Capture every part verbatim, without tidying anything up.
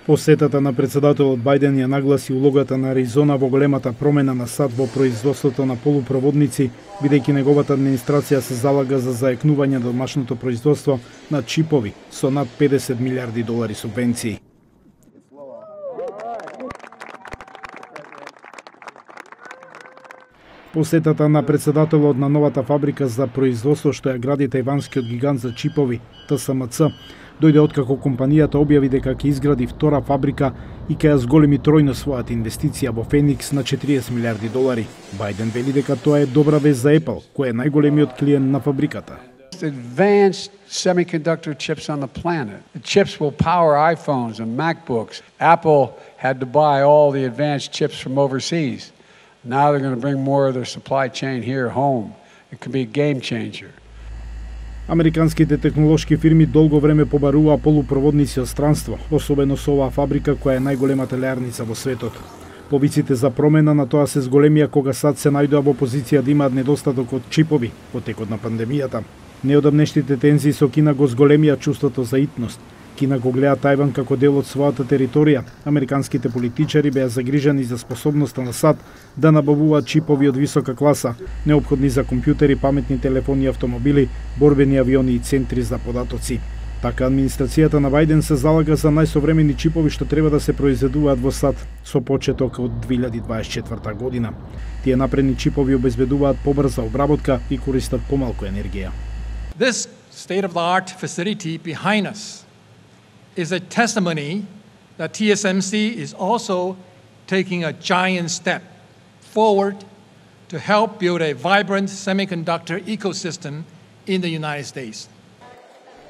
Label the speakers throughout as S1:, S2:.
S1: Посетата на председателот Бајден ја нагласи улогата на Аризона во големата промена на САД во производството на полупроводници, бидејќи неговата администрација се залага за заекнување на домашното производство на чипови со над педесет милиарди долари субвенции. Посетата на председателот на новата фабрика за производство што ја гради тајванскиот гигант за чипови Т С М Ц дојде откако компанијата објави дека ќе изгради втора фабрика и ќе ја зголеми тројно својата инвестиција во Феникс на четириесет милиарди долари. Бајден вели дека тоа е добра вест за Apple, кој е најголемиот клиент на фабриката.
S2: Advanced semiconductor chips on the planet. The chips will power iPhones and MacBooks. Apple had to buy all the advanced chips from overseas. Now they're going to bring more of their supply chain here home. It could be a game changer.
S1: Американските технолошки фирми долго време побаруваа полупроводници од странство, особено со оваа фабрика која е најголемата леарница во светот. Повиците за промена на тоа се зголемија кога САД се најдоа во позиција да имаат недостаток од чипови во текот на пандемијата. Неодамнешните тензии со Кина го зголемија чувството за итност. Кина го гледа Тајван како дел од својата територија. Американските политичари беа загрижени за способноста на САД да набавуваат чипови од висока класа, неопходни за компјутери, паметни телефони, автомобили, борбени авиони и центри за податоци. Така администрацијата на Бајден се залага за најсовремени чипови што треба да се произведуваат во САД со почеток од две илјади дваесет и четврта година. Тие напредни чипови обезбедуваат побрза обработка и користат помалку енергија.
S3: This state-of-the-art facility behind us is a testimony that T S M C is also taking a giant step forward to help build a vibrant semiconductor ecosystem in the United States.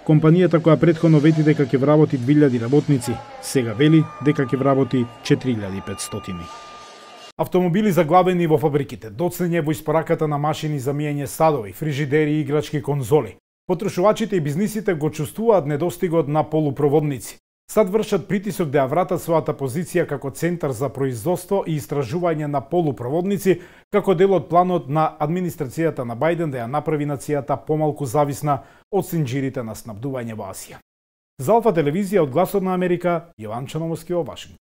S1: Компанијата која претходно вети дека ќе вработи две илјади работници, сега вели дека ќе вработи четири илјади и петстотини. Автомобили заглавени во фабриките, доцнење во испораката на машини за миење садови, фрижидери и играчки конзоли. Потрошувачите и бизнисите го чувствуваат недостигот на полупроводници. САД вршат притисок да ја вратат својата позиција како центар за производство и истражување на полупроводници, како дел од планот на администрацијата на Бајден да ја направи нацијата помалку зависна од синџирите на снабдување во Асија. За Алфа телевизија од Гласот на Америка, Јован Чановски во Вашингтон.